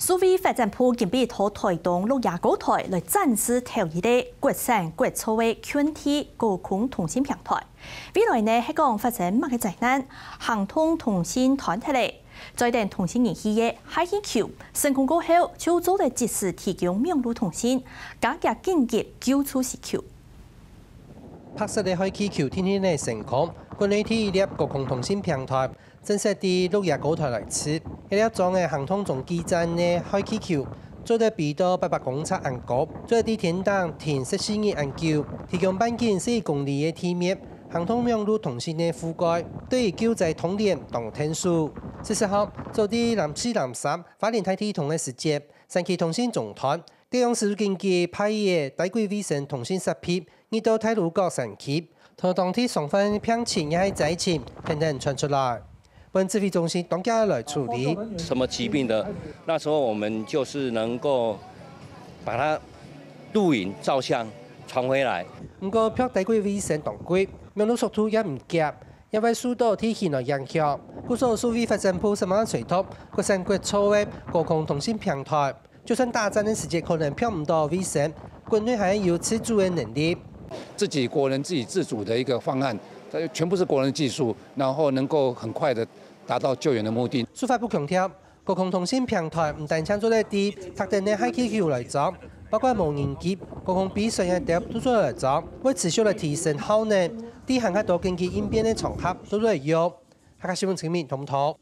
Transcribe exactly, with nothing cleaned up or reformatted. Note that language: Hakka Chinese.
數位發展部今晡日到臺東鹿野高臺來展示頭一個國產國造个近地高空通訊平臺。未來呢，係講發生麼个災難，行動通訊斷忒咧，再等通訊儀器个氦氣球升空過後，就做得即時提供網路通訊，加強緊急救助需求。白色个氦氣球定定仔升空，國內第一粒高空通訊平臺， 正式在鹿野高臺來試。這粒裝个行動中繼站个氦氣球，做得飛到八百公尺恁高，做得在天頂停十四日恁久，提供半徑十一公里个地面，行動網路通訊个覆蓋，對於救災通聯當𢯭手。事實上，早在南四南三、花蓮大地動个時節，山區通訊中斷， 地方使緊急派一個低軌衛星通訊設備，入到太魯閣山區，同當地相關病情也係災情，等等傳出來。本指揮中心當遽來處理。什麼疾病的，那時候我們就是能夠把它錄影、照相傳回來。毋過，拍低軌衛星當貴，網路速度也毋遽，也會受到地形个影響。故所數位發展部十萬揣著國產國造个高空通訊平臺， 就算打仗个時節可能拍毋到衛星，國內還有自主个能力。自己國人自給自足的一個方案，它全部是國人技術，然後能夠很快的達到救援的目的。數發部強調，高空通訊平臺毋單淨做得在特定个氦氣球來裝，包括無人機、高空飛船个兜都做得來裝，會持續來提升效能，在還較多緊急應變个場合都做得用。客家新聞陳明統統。